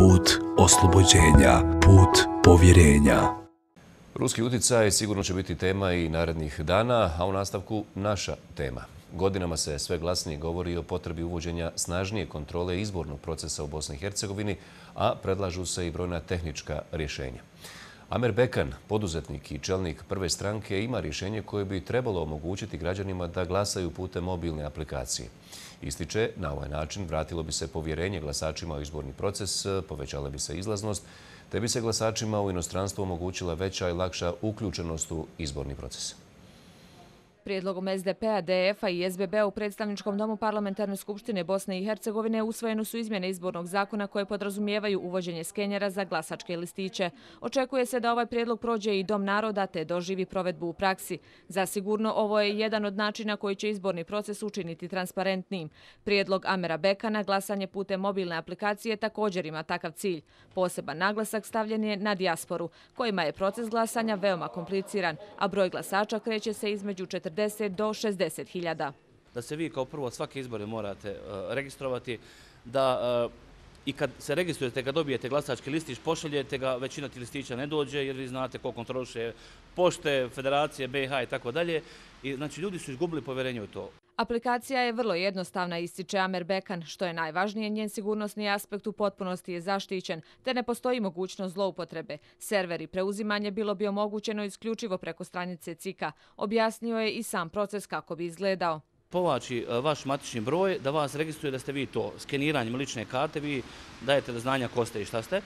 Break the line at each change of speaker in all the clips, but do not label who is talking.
put oslobođenja, put povjerenja.
Ruski utjecaj sigurno će biti tema i narednih dana, a u nastavku naša tema. Godinama se sve glasnije govori o potrebi uvođenja snažnije kontrole izbornog procesa u Bosni i Hercegovini, a predlažu se i brojna tehnička rješenja. Amer Bekan, poduzetnik i čelnik Prve stranke, ima rješenje koje bi trebalo omogućiti građanima da glasaju putem mobilne aplikacije. Ističe, na ovaj način vratilo bi se povjerenje glasačima u izborni proces, povećala bi se izlaznost, te bi se glasačima u inostranstvu omogućila veća i lakša uključenost u izborni proces.
Prijedlogom SDP-a, DF-a i SBB-a u Predstavničkom domu Parlamentarne skupštine Bosne i Hercegovine usvojene su izmjene izbornog zakona koje podrazumijevaju uvođenje skenjera za glasačke listiće. Očekuje se da ovaj prijedlog prođe i Dom naroda te doživi provedbu u praksi. Zasigurno ovo je jedan od načina koji će izborni proces učiniti transparentnijim. Prijedlog Amera Bekana, glasanje putem mobilne aplikacije, također ima takav cilj. Poseban naglasak stavljen je na dijasporu, kojima je proces glasanja veoma kompliciran, a broj glasača kreće se između 40 do 60 hiljada.
Da se vi kao prvo svake izbore morate registrovati, da i kad se registrujete, kad dobijete glasački listić, pošaljete ga, većina ti listića ne dođe jer vi znate ko kontroliše pošte, federacije, BiH i tako dalje. I znači ljudi su izgubili povjerenje u to.
Aplikacija je vrlo jednostavna, ističe Amer Bekan. Što je najvažnije, njen sigurnosni aspekt u potpunosti je zaštićen, te ne postoji mogućnost zloupotrebe. Server i preuzimanje bilo bi omogućeno isključivo preko stranice CIK-a. Objasnio je i sam proces kako bi izgledao.
Povlači vaš matični broj, da vas registruje da ste vi to. Skeniranjem lične karte vi dajete do znanja ko ste i šta ste.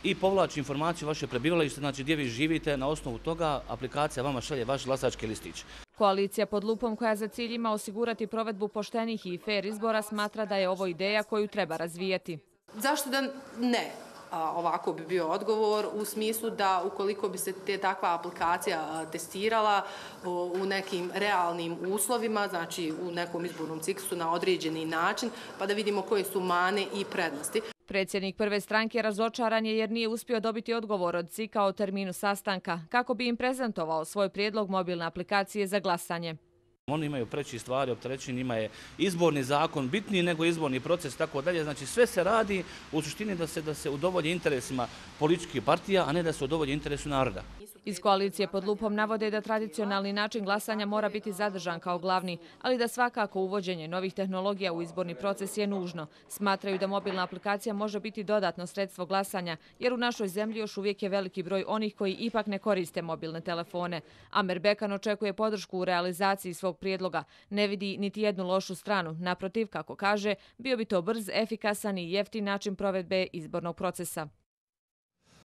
I povlači informaciju vaše prebivalište, znači gdje vi živite. Na osnovu toga aplikacija vama šalje vaš glasački listić.
Koalicija pod lupom, koja za cilj ima osigurati provedbu poštenih i fer izbora, smatra da je ovo ideja koju treba razvijeti.
Zašto da ne? Ovako bi bio odgovor u smislu da ukoliko bi se takva aplikacija testirala u nekim realnim uslovima, znači u nekom izbornom ciklusu na određeni način, pa da vidimo koje su mane i prednosti.
Predsjednik Prve stranke razočaran je jer nije uspio dobiti odgovor od CIK-a o terminu sastanka, kako bi im prezentovao svoj prijedlog mobilne aplikacije za glasanje.
Oni imaju preći stvari, opterećenje, njima je izborni zakon bitniji nego izborni proces i tako dalje. Znači sve se radi u suštini da se udovolji interesima političkih partija, a ne da se udovolji interesu naroda.
Iz koalicije pod lupom navode da tradicionalni način glasanja mora biti zadržan kao glavni, ali da svakako uvođenje novih tehnologija u izborni proces je nužno. Smatraju da mobilna aplikacija može biti dodatno sredstvo glasanja, jer u našoj zemlji još uvijek je veliki broj onih koji ipak ne koriste mobilne telefone. Amer Bekan očekuje podršku u realizaciji svog prijedloga. Ne vidi niti jednu lošu stranu. Naprotiv, kako kaže, bio bi to brz, efikasan i jeftin način provedbe izbornog procesa.